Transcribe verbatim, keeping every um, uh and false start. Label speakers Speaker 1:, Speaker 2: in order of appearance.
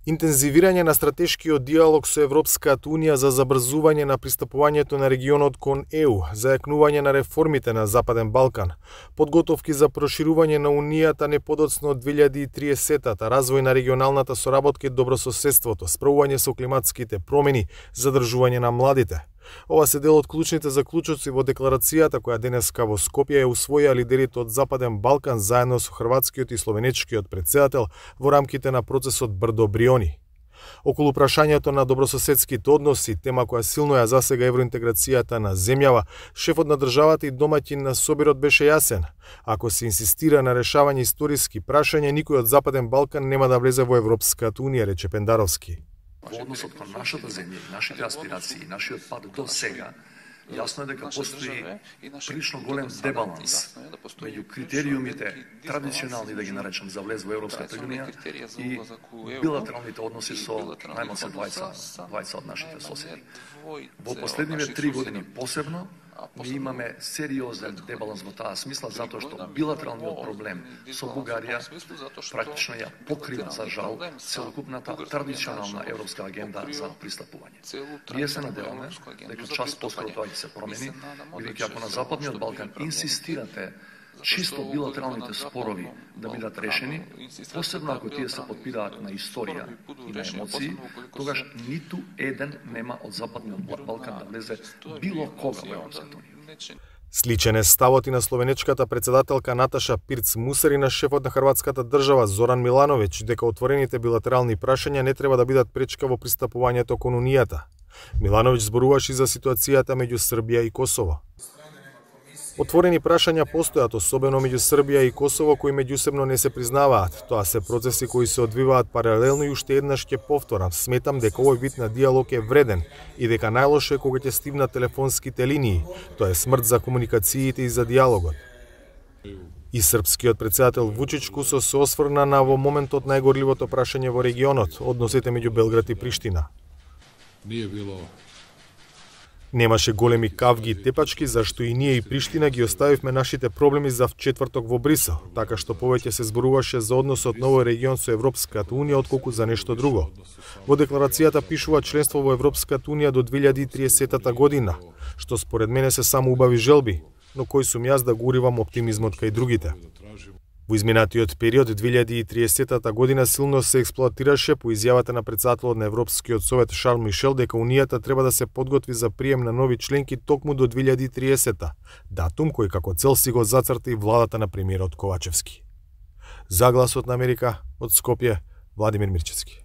Speaker 1: Интензивирање на стратешкиот диалог со Европската Унија за забрзување на пристапувањето на регионот кон Е У, зајакнување на реформите на Западен Балкан, подготовки за проширување на Унијата не подоцна од две илјади и триесеттата, развој на регионалната соработка и добрососедството, справување со климатските промени, задржување на младите. Ова се дел од клучните заклучоци во декларацијата која денеска во Скопје ја усвоија лидерите од Западен Балкан заедно со хрватскиот и словенечкиот претседател во рамките на процесот Брдо-Бриони. Околу прашањето на добрососедските односи, тема која силно ја засега евроинтеграцијата на земјава, шефот на државата и домаќин на собирот беше јасен. Ако се инсистира на решавање историски прашања, никој од Западен Балкан нема да влезе во Европската Унија, рече Пендаровски.
Speaker 2: Во односот кон нашата земја, нашите аспирации, нашиот пат до сега, јасно е дека постои прилично голем дебаланс меѓу критериумите традиционални, да ги наречам, за влез во Европската Унија и билатералните односи со најмалку двајца од нашите соседи. Во последниве три години посебно ми имаме сериозен дебаланс во таа смисла, затоа што билатералниот проблем со Бугарија практично ја покрива, за жал, целокупната традиционална европска агенда за пристапување. Ние се надеваме дека час поскоро тоа ќе се промени, бидејќи ако на Западниот Балкан инсистирате чисто билатералните спорови да бидат решени, посебно ако тие се подпираат на историја и на емоции, тогаш ниту еден нема од Западниот Балкан да влезе било кога во Европската Унија.
Speaker 1: Сличен е ставот и на словенечката претседателка Наташа Пирц-Мусер и на шефот на хрватската држава Зоран Милановиќ дека отворените билатерални прашања не треба да бидат пречка во пристапувањето кон Унијата. Милановиќ зборуваше за ситуацијата меѓу Србија и Косово. Отворени прашања постојат, особено меѓу Србија и Косово, кои меѓусебно не се признаваат. Тоа се процеси кои се одвиваат паралелно и уште еднаш ќе повторам. Сметам дека овој вид на диалог е вреден и дека најлошо е кога ќе стигнат телефонските линии. Тоа е смрт за комуникациите и за диалогот. И српскиот претседател Вучич Кусо се осврна на во моментот најгорливото прашање во регионот, односите меѓу Белград и Приштина.
Speaker 3: Nije bilo
Speaker 1: Немаше големи кавги и тепачки, зашто и ние и Приштина ги оставивме нашите проблеми за четврток во Брисел, така што повеќе се зборуваше за односот на овој регион со Европската Унија отколку за нешто друго. Во декларацијата пишува членство во Европската Унија до две илјади и триесеттата година, што според мене се само убави желби, но кој сум јас да го уривам оптимизмот кај другите. Во изминатиот период две илјади и триесеттата година силно се експлоатираше по изјавата на претседателот на Европскиот совет Шарл Мишел дека Унијата треба да се подготви за прием на нови членки токму до две илјади и триесеттата, датум кој како цел си го зацрта и владата на премиерот Ковачевски. За Гласот на Америка од Скопје, Владимир Мирчевски.